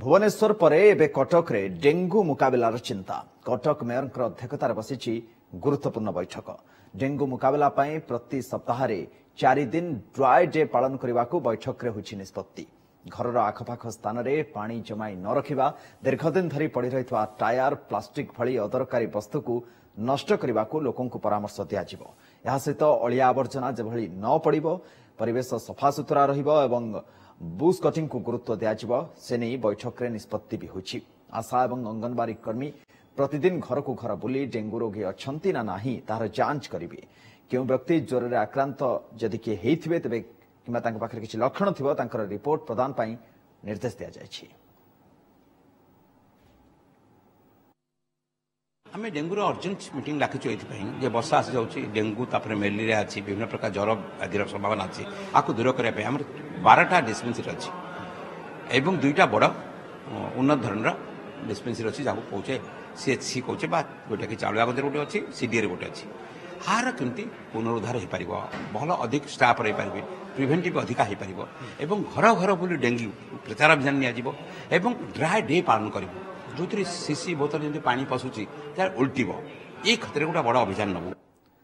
ଭୁବନେଶ୍ୱର ପରେ ଏବେ କଟକରେ ଡେଙ୍ଗୁ ମୁକାବିଲାର ଚିନ୍ତା। କଟକ ମେୟରଙ୍କ ଅଧ୍ୟକ୍ଷତାରେ ବସିଛି ଗୁରୁତ୍ୱପୂର୍ଣ୍ଣ ବୈଠକ। ଡେଙ୍ଗୁ ମୁକାବିଲା ପାଇଁ ପ୍ରତି ସପ୍ତାହରେ 4 ଦିନ ଡ୍ରାଏ ଡେ ପାଳନ କରିବାକୁ ବୈଠକରେ ହୋଇଛି ନିଷ୍ପତ୍ତି। ଘରର ଆଖପାଖ ସ୍ଥାନରେ ପାଣି ଜମାଇ ନ ରଖିବା, ଦୀର୍ଘଦିନ ଧରି ପଡ଼ି ରହିଥିବା ଟାୟାର, ପ୍ଲାଷ୍ଟିକ ଭଳି ଅଦରକାରୀ ବସ୍ତୁକୁ ନଷ୍ଟ କରିବାକୁ ଲୋକଙ୍କୁ ପରାମର୍ଶ ଦିଆଯିବ। ଏହା ସହିତ ଅଳିଆ ଆବର୍ଜନା ଯେଭଳି ନ ପଡ଼ିବ, ପରିବେଶ ସଫାସୁତୁରା ରହିବ ଏବଂ ବୁସ୍ କଟିଂକୁ ଗୁରୁତ୍ୱ ଦିଆଯିବ, ସେ ନେଇ ବୈଠକରେ ନିଷ୍ପତ୍ତି ବି ହୋଇଛି। ଆଶା ଏବଂ ଅଙ୍ଗନବାଡ଼ି କର୍ମୀ ପ୍ରତିଦିନ ଘରକୁ ଘର ବୁଲି ଡେଙ୍ଗୁ ରୋଗୀ ଅଛନ୍ତି ନା ନାହିଁ ତାହାର ଯାଞ୍ଚ କରିବେ। କେଉଁ ବ୍ୟକ୍ତି ଜ୍ୱରରେ ଆକ୍ରାନ୍ତ ଯଦି କିଏ ହେଇଥିବେ ତେବେ କିମ୍ବା ତାଙ୍କ ପାଖରେ କିଛି ଲକ୍ଷଣ ଥିବ, ତାଙ୍କର ରିପୋର୍ଟ ପ୍ରଦାନ ପାଇଁ ନିର୍ଦ୍ଦେଶ ଦିଆଯାଇଛି। ଆମେ ଡେଙ୍ଗୁର ଅର୍ଜେଣ୍ଟ ମିଟିଂ ଡାକିଛୁ ଏଇଥିପାଇଁ ଯେ ବର୍ଷା ଆସିଯାଉଛି, ଡେଙ୍ଗୁ ତାପରେ ମ୍ୟାଲେରିଆ ଅଛି, ବିଭିନ୍ନ ପ୍ରକାର ଜ୍ୱର ଆଦିର ସମ୍ଭାବନା ଅଛି। ଆକୁ ଦୂର କରିବା ପାଇଁ ଆମର 12ଟା ଡିସ୍ପେନ୍ସରୀ ଅଛି ଏବଂ 2ଟା ବଡ଼ ଉନ୍ନତ ଧରଣର ଡିସ୍ପେନ୍ସରୀ ଅଛି, ଯାହାକୁ କହୁଛେ ସିଏଚସି କହୁଛେ, ବା ଯେଉଁଟାକି ଚାଉଳିଆଗଞ୍ଜରେ ଗୋଟେ ଅଛି, ସିଡିଏରେ ଗୋଟେ ଅଛି। ଆର କେମିତି ପୁନରୁଦ୍ଧାର ହୋଇପାରିବ, ଭଲ ଅଧିକ ଷ୍ଟାଫ୍ ରହିପାରିବେ, ପ୍ରିଭେଣ୍ଟିଭ୍ ଅଧିକା ହୋଇପାରିବ ଏବଂ ଘର ଘର ବୁଲି ଡେଙ୍ଗୁ ପ୍ରଚାର ଅଭିଯାନ ନିଆଯିବ ଏବଂ ଡ୍ରାଏ ଡେ ପାଳନ କରିବୁ, ଯେଉଁଥିରେ ଶିଶି ବୋତଲ ଯେମିତି ପାଣି ପଶୁଛି ତାର ଉଲ୍ଟିବ, ଏ କ୍ଷେତ୍ରରେ ଗୋଟେ ବଡ଼ ଅଭିଯାନ ନେବୁ।